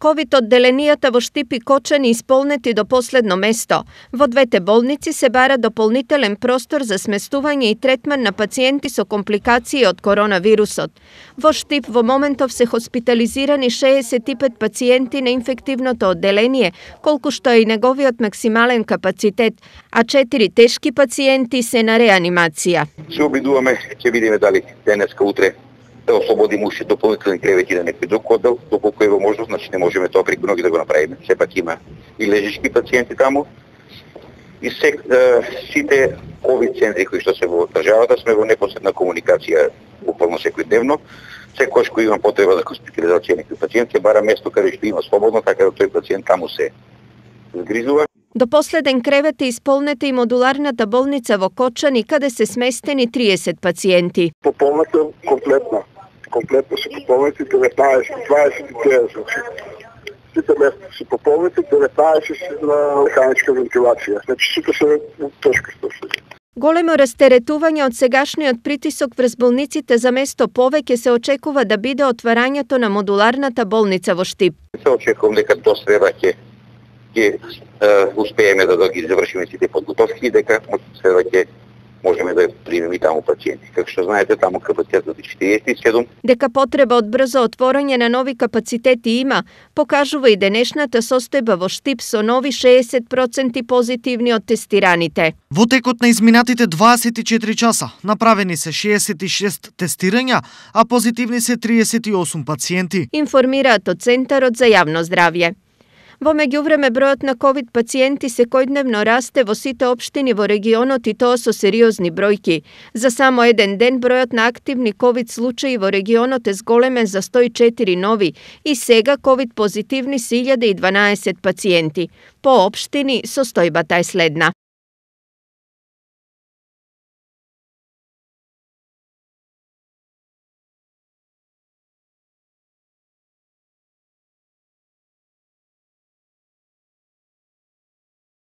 Ковид одделенијата во Штип и Кочани исполнети до последно место. Во двете болници се бара дополнителен простор за сместување и третман на пациенти со компликации од коронавирусот. Во Штип во моментов се хоспитализирани 65 пациенти на инфективното одделение, колку што е и неговиот максимален капацитет, а 4 тешки пациенти се на реанимација. Се обидуваме, ќе видиме дали денеска, утре да ослободиме уште дополнителни кревети на некој друг оддел, доколку е возможност, значи не можеме тоа преку ноги да го направиме. Сепак има и лежички пациенти таму. И сите ковид центри кои што се во државата сме во непосредна комуникација буквално секојдневно. Секојаш кој има потреба за хоспитализација некој пациент ќе бара место каде што има слободно, така да тој пациент таму се згрижува. До последен кревет е исполнета и модуларната болница во Кочани, каде се сместени 30 пациенти. Пополнета комплетно. Комплетно се пополнети 29, значи. Сите места се пополнети, 19 на механичка вентилација. Значи сите се тешко случаи. Големо растеретување од сегашниот притисок врз болниците за место повеќе се очекува да биде отварањето на модуларната болница во Штип. Се очекувам дека до среда ќе успееме да ги завршиме сите подготовки и дека од среда ќе можеме да примеме и таму пациенти. Како што знаете, таму капацитетот е 47. Дека потреба од брзо отворање на нови капацитети има, покажува и денешната состојба во Штип со нови 60% позитивни од тестираните. Во текот на изминатите 24 часа направени се 66 тестирања, а позитивни се 38 пациенти. Информираат од Центарот за јавно здравје. Во меѓувреме бројот на ковид пациенти секојдневно расте во сите општини во регионот и тоа со сериозни бројки. За само еден ден бројот на активни ковид случаи во регионот е зголемен за 104 нови и сега ковид позитивни се 1012 пациенти. По општини состојбата е следна.